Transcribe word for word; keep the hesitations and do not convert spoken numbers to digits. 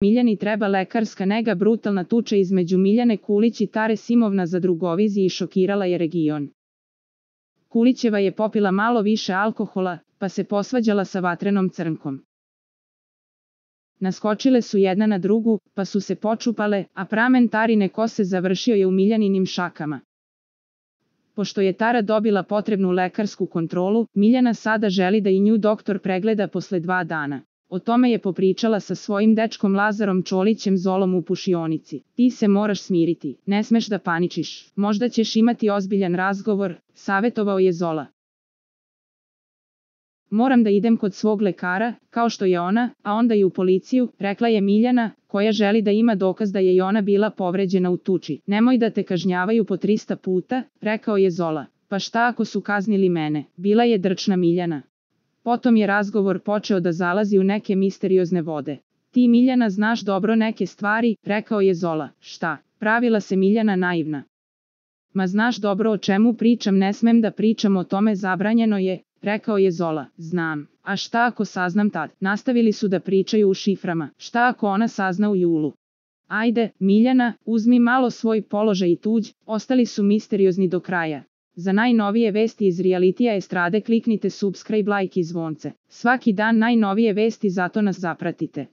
Miljani treba lekarska nega. Brutalna tuča između Miljane Kulić i Tare Simovna za Drugoviziji šokirala je region. Kulićeva je popila malo više alkohola, pa se posvađala sa Vatrenom Crnkom. Naskočile su jedna na drugu, pa su se počupale, a pramen Tarine kose završio je u Miljaninim šakama. Pošto je Tara dobila potrebnu lekarsku kontrolu, Miljana sada želi da i nju doktor pregleda posle dva dana. O tome je popričala sa svojim dečkom Lazarom Čolićem Zolom u pušionici. Ti se moraš smiriti, ne smeš da paničiš, možda ćeš imati ozbiljan razgovor, savetovao je Zola. Moram da idem kod svog lekara, kao što je ona, a onda i u policiju, rekla je Miljana, koja želi da ima dokaz da je i ona bila povređena u tuči. Nemoj da te kažnjavaju po trista puta, rekao je Zola. Pa šta ako su kaznili mene? Bila je drčna Miljana. Potom je razgovor počeo da zalazi u neke misteriozne vode. Ti Miljana znaš dobro neke stvari, rekao je Zola. Šta? Pravila se Miljana naivna. Ma znaš dobro o čemu pričam, ne smem da pričam o tome, zabranjeno je, rekao je Zola. Znam. A šta ako saznam tad? Nastavili su da pričaju u šiframa. Šta ako ona sazna u julu? Ajde, Miljana, uzmi malo svoj položaj i tuđ, ostali su misteriozni do kraja. Za najnovije vesti iz realitija estrade kliknite subscribe, like i zvonce. Svaki dan najnovije vesti, zato nas zapratite.